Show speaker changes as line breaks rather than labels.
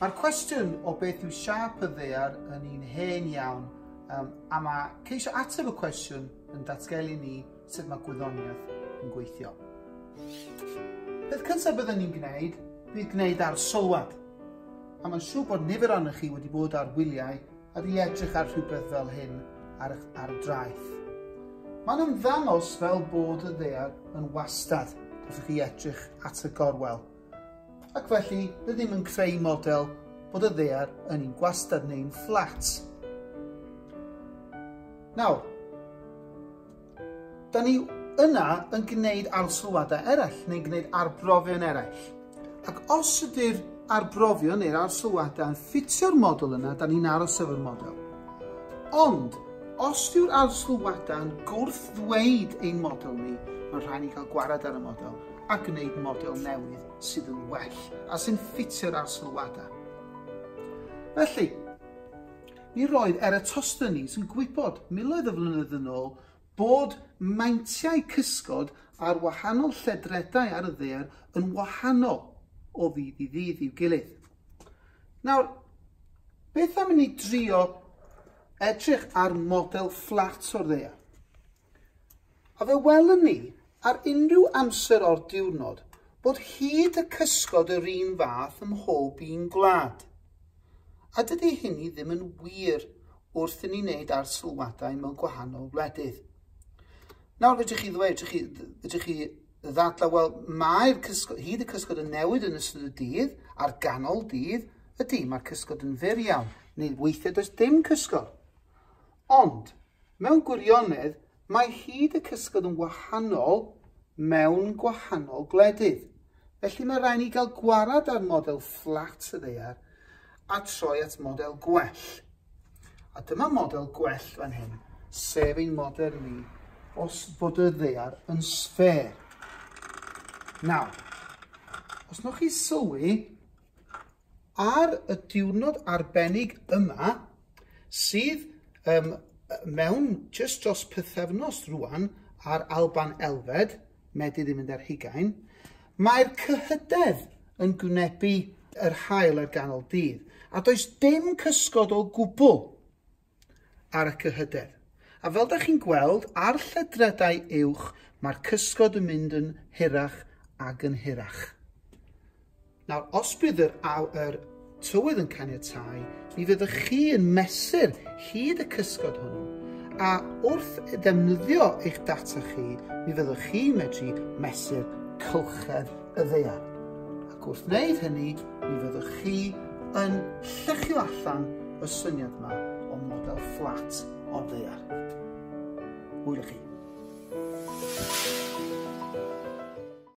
Mae'r cwestiwn o beth yw siâp y ddaear yn un hen iawn, a mae ceisio ateb y cwestiwn yn datgelu ni sut mae gwyddoniaeth yn gweithio. Peth cyntaf byddwn ni'n gwneud fydd gwneud arsylwad. A mae'n siŵr bod nifer ohonoch chi wedi bod ar wyliau a wedi edrych ar rhywbeth fel hyn ar, ar draeth. Mae'n ymddangos fel bod y ddaear yn wastad wrth i chi edrych at y gorwel. Ac felly, rydym yn creu model bod y ddaear yn un gwastad neu'n fflat. Nawr, da ni yna yn gwneud arsylwadau eraill, neu'n gwneud arbrofion eraill. Ac os ydy'r arbrofion neu'r arsylwadau yn ffitio'r model yna, da ni'n aros efo'r model. Ond, os yw'r arsylwadau yn gwrth-ddweud ein model ni, mae'n rhaid ni cael gwared ar y model a gwneud model newydd sydd yn well a sy'n ffitio'r arsylwadau. Felly, mi roedd Eratosthenes yn gwybod miloedd o flynyddoedd yn ôl bod meintiau cysgod ar wahanol lledredau ar y ddaear yn wahanol o ddydd i ddydd i'w gilydd. Nawr, beth am i ni drio edrych ar model fflat o'r ddaear? A fe welwn ni ar unrhyw amser o'r diwrnod bod hyd y cysgod yr un fath ym mhob un gwlad. A dydy hynny ddim yn wir wrth i ni wneud arsylwadau mewn gwahanol wledydd. Nawr, fedrwch chi ddweud, fedrwch chi, fedrwch chi ddadlau, wel, mae'r cysgod, hyd y cysgod yn newid yn ystod y dydd, ar ganol dydd, ydy, mae'r cysgod yn fyr iawn, neu weithiau does dim cysgod. Ond, mewn gwirionedd, mae hyd y cysgod yn wahanol mewn gwahanol gwledydd. Felly mae rhaid ni gael gwarad ar model fflat y ddaear a troi at model gwell. A dyma model gwell fan hyn, sef ein model ni os bod y ddaear yn sffêr. Nawr, os newch chi sylwi, ar y diwrnod arbennig yma, sydd mewn jyst dros pythefnos rwan ar Alban Elfed, Medi ddim yn ar hugain, mae'r cyhydedd yn gwynebu yr haul ar ganol dydd, a does dim cysgod o gwbl ar y cyhydedd. A fel da chi'n gweld, ar lledredau uwch, mae'r cysgod yn mynd yn hirach ac yn hirach. Nawr, os bydd yr, yr tywydd yn caniatáu, mi fyddwch chi yn mesur hyd y cysgod hwnnw, a wrth ddefnyddio eich data chi, mi fyddwch chi'n medru mesur cylchedd y ddaear. Ac wrth wneud hynny, mi fyddwch chi yn lluchio allan y syniad yma o model fflat o'r ddaear. Hwyl i chi.